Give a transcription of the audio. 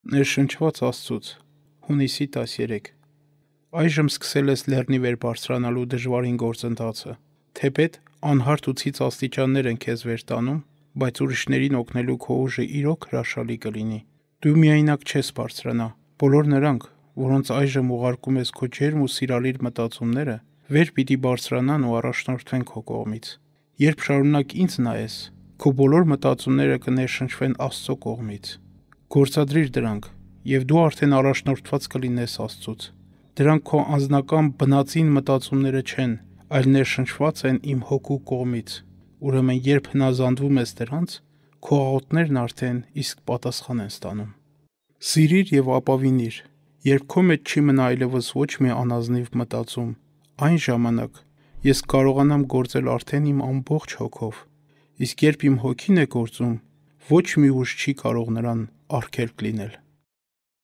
Ներշնչված Աստծուց Հունիսի 13 Այժմ սկսել ես լեռնի վեր բարձրանալու դժվարին գործընթացը, թեպետ անհարթ ու ցից աստիճաններ են քեզ վեր տանում, բայց ուրիշներին օգնելու քո ուժը իրոք հրաշալի կլինի։ Դու միայնակ չես բարձրանա, բոլոր նրանք, որոնց այժմ ուղարկում ես քո ջերմ ու սիրալիր մտածումները, վեր պիտի բարձրանան ու առաջնորդվեն քո կողմից։ Երբ շարունակ ինձ նայես, քո բոլոր մտածումները կներշնչվեն Աստծո կողմից։ Գործադրիր դրանք, և դու արդեն առաջնորդված կլինես Աստծուց։ Դրանք քո անձնական բնածին մտածումները չեն, այլ ներշնչված են իմ հոգու կողմից։ Ուրեմն երբ հնազանդվում ես դրանց, քո աղոթքներն արդեն իսկ պատասխան են ստանում։ Սիրիր և ապավինիր։ Երբ քո մեջ չի մնա այլևս ոչ մի անազնիվ մտածում, այն ժամանակ ես կարողանամ գործել արդեն իմ ամբողջ հոգով, իսկ երբ իմ հոգին է գործում, ոչ մի ուժ չի կարող նրան արգելք լինել։